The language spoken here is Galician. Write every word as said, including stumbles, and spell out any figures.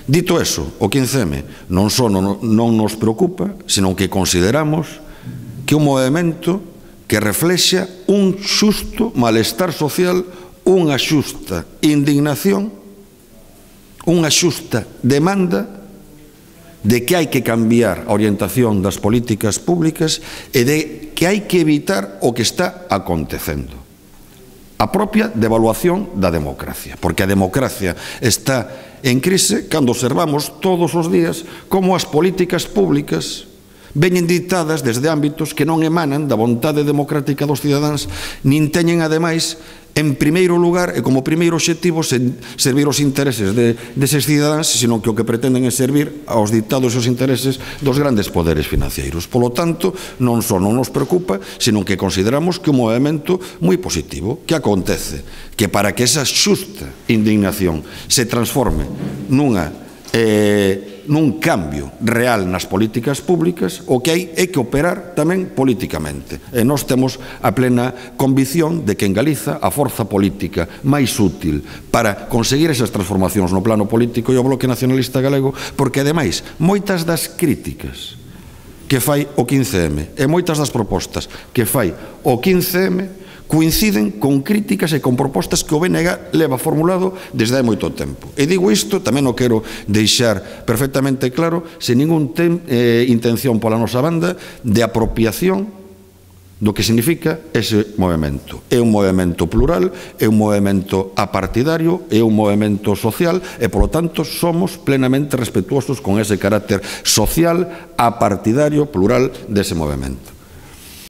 Dito eso, o quince eme non só non, non nos preocupa, senón que consideramos que é un movimento que reflexa un xusto malestar social, unha xusta indignación, unha xusta demanda de que hai que cambiar a orientación das políticas públicas e de que hai que evitar o que está acontecendo. A propia devaluación da democracia, porque a democracia está en crise cando observamos todos os días como as políticas públicas veñen dictadas desde ámbitos que non emanan da vontade democrática dos cidadáns, nin teñen, ademais, en primeiro lugar e como primeiro obxectivo servir os intereses deses cidadáns, senón que o que pretenden é servir aos dictados e os intereses dos grandes poderes financeiros. Polo tanto, non só non nos preocupa, senón que consideramos que é un movimento moi positivo, que acontece que para que esa xusta indignación se transforme nunha Eh, nun cambio real nas políticas públicas, o que hai é que operar tamén políticamente. E nós temos a plena convicción de que en Galiza a forza política máis útil para conseguir esas transformacións no plano político é o Bloque Nacionalista Galego, porque ademais moitas das críticas que fai o quince eme e moitas das propostas que fai o quince eme coinciden con críticas e con propostas que o B N G leva formulado desde hai moito tempo. E digo isto, tamén o quero deixar perfectamente claro, sen ningún eh, intención pola nosa banda de apropiación do que significa ese movimento. É un movimento plural, é un movimento apartidario, é un movimento social e, polo tanto, somos plenamente respetuosos con ese carácter social, apartidario, plural dese movimento.